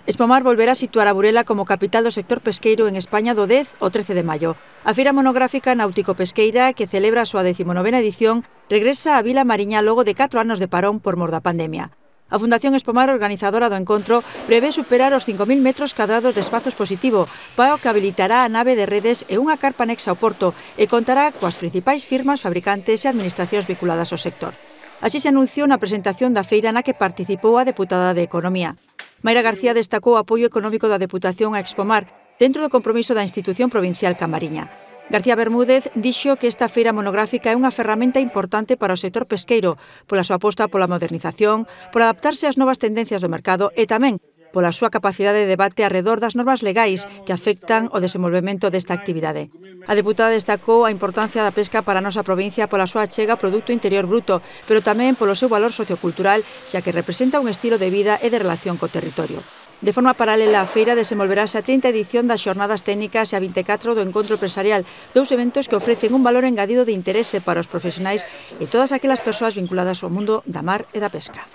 Espomar volverá a situar a Burela como capital do sector pesqueiro en España do 10 ao 13 de maio. A feira monográfica náutico-pesqueira, que celebra a súa 19ª edición, regresa á Vila Mariña logo de 4 anos de parón por mor da pandemia. A Fundación Espomar, organizadora do encontro, prevé superar os 5.000 metros cadrados de espazo expositivo, para o que habilitará a nave de redes e unha carpa anexa ao porto e contará coas principais firmas, fabricantes e administracións vinculadas ao sector. Así se anunciou na presentación da feira na que participou a deputada de Economía. Mayra García destacou o apoio económico da Deputación a Espomar dentro do compromiso da institución provincial Camariña. García Bermúdez dixo que esta feira monográfica é unha ferramenta importante para o sector pesqueiro pola súa aposta pola modernización, por adaptarse ás novas tendencias do mercado e tamén pola súa capacidade de debate arredor das normas legais que afectan o desenvolvemento desta actividade. A deputada destacou a importancia da pesca para a nosa provincia pola súa achega ao Produto Interior Bruto, pero tamén polo seu valor sociocultural, xa que representa un estilo de vida e de relación co territorio. De forma paralela, a feira desenvolverase a 30ª edición das Xornadas Técnicas e a 24 do Encontro Empresarial, dous eventos que ofrecen un valor engadido de interese para os profesionais e todas aquelas persoas vinculadas ao mundo da mar e da pesca.